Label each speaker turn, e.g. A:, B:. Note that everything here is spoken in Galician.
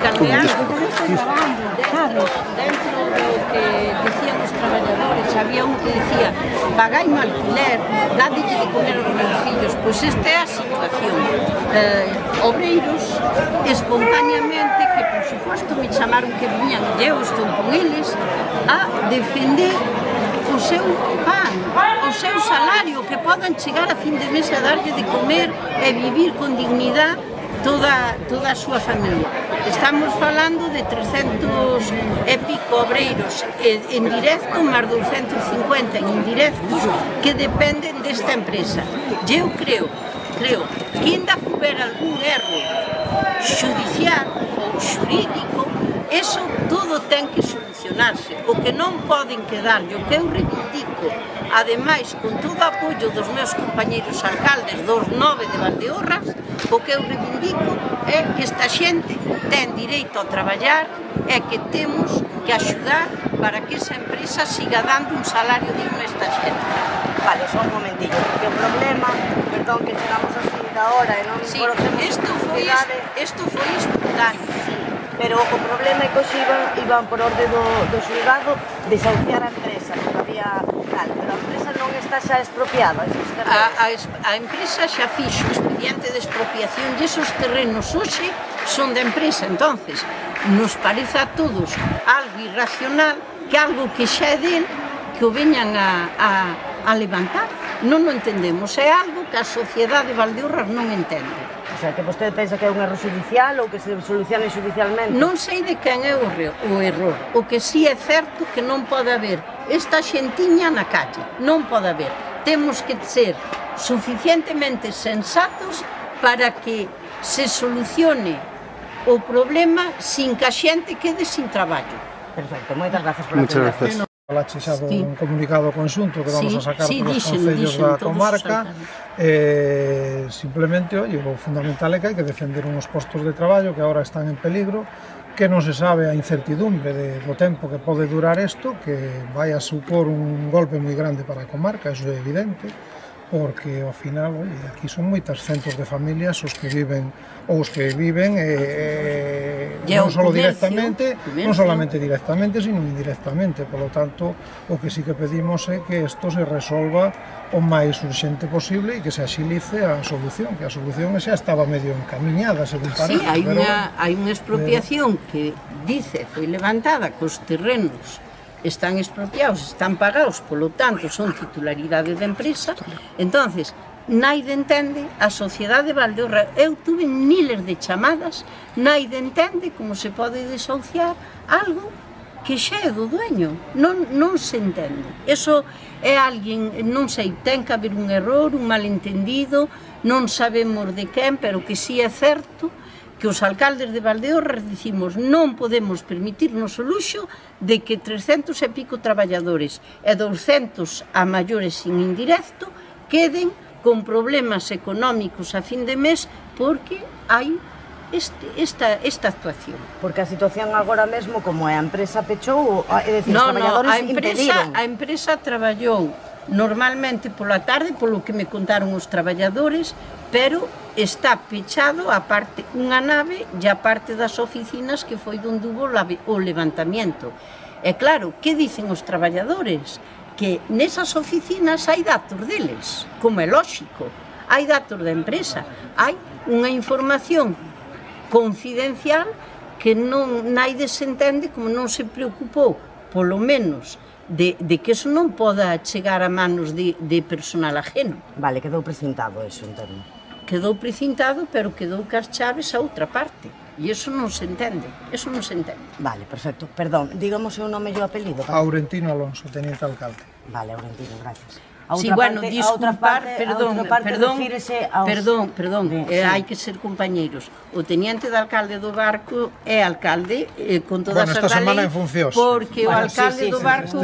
A: Dentro do que dicían os traballadores, había un que dicía: pagai no alquiler, dadelle de comer aos meus fillos. Pois esta é a situación. Obreiros, espontáneamente, que por suposto me chamaron que viñan, e eu estou con eles, a defender o seu pan, o seu salario, que podan chegar a fin de mes a darlle de comer e vivir con dignidade toda a súa familia. Estamos falando de 300 e pico obreiros en directo, máis 250 en indirectos, que dependen desta empresa. E eu creo que ainda que houber algún erro judicial ou xurídico, eso todo ten que solucionarse. O que non poden quedar, o que eu reivindico, ademais, con todo o apoio dos meus compañeiros alcaldes dos 9 de Valdeorras, o que eu reivindico é que esta xente ten direito a traballar e que temos que axudar para que esa empresa siga dando un salario digno a esta xente.
B: Vale, só un momentillo, porque o problema, perdón que chegamos así da hora e non conocemos
A: isto foi espontáneo.
B: Pero o problema é que hoxe iban por orde do xulgado desahuciar a empresa, porque había tal, pero a empresa non está xa expropiada.
A: A empresa xa fixo o expediente de expropiación e esos terrenos hoxe son da empresa. Entonces, nos parece a todos algo irracional que algo que xa é del, que o veñan a levantar. Non o entendemos, é algo que a sociedade de Valdeorras non entende.
B: O sea, que vostede pensa que é un erro judicial ou que se solucione judicialmente?
A: Non sei de quen é o error. O que sí é certo que non pode haber esta xentiña na calle. Non pode haber. Temos que ser suficientemente sensatos para que se solucione o problema sin que a xente quede sin traballo.
B: Perfecto, moitas gracias por a atención.
C: Falache xa dun comunicado conxunto que vamos a sacar polos concellos da comarca. Simplemente, o fundamental é que hai que defender uns postos de traballo que agora están en peligro, que non se sabe a incertidumbre do tempo que pode durar isto, que vai a supor un golpe moi grande para a comarca, iso é evidente, porque ao final, aquí son moitas centos de familias os que viven non solamente directamente, sino indirectamente. Por lo tanto, o que sí que pedimos é que isto se resolva o máis urxente posible e que se axilice a solución, que a solución xa estaba medio encamiñada, según parece.
A: Sí, hai unha expropiación que dice, foi levantada cos terrenos están expropiados, están pagados, polo tanto, son titularidade da empresa. Entonces, naide entende, a sociedade de Valdeorras, eu tuve miles de chamadas, naide entende como se pode desahuciar algo que xa é do dueño, non se entende. Eso é alguén, non sei, ten que haber un error, un malentendido, non sabemos de quen, pero que si é certo que os alcaldes de Valdeorras dicimos non podemos permitirnos o luxo de que 300 e pico traballadores e 200 a maiores sin indirecto queden con problemas económicos a fin de mes porque hai esta actuación.
B: Porque a situación agora mesmo, como é, a empresa pechou, é dicir, os traballadores impediron?
A: A empresa traballou normalmente pola tarde, polo que me contaron os traballadores, pero está pechado a parte unha nave e a parte das oficinas que foi onde hubo o levantamiento. E claro, que dicen os traballadores? Que nesas oficinas hai datos deles, como é lóxico, hai datos da empresa, hai unha información confidencial que naide se entende como non se preocupou, polo menos, de que eso non poda chegar a manos de personal ajeno.
B: Vale, quedou precintado eso, entendo.
A: Quedou precintado, pero quedou cas chaves a outra parte. E iso non se entende, eso non se entende.
B: Vale, perfecto. Perdón, dígame o seu nome e o apelido.
C: Aurentino Alonso, teniente alcalde.
B: Vale, Aurentino, gracias.
A: Sí, bueno, disculpar, perdón, hai que ser compañeiros. O teniente de alcalde do barco é alcalde con todas as da lei, porque o alcalde do barco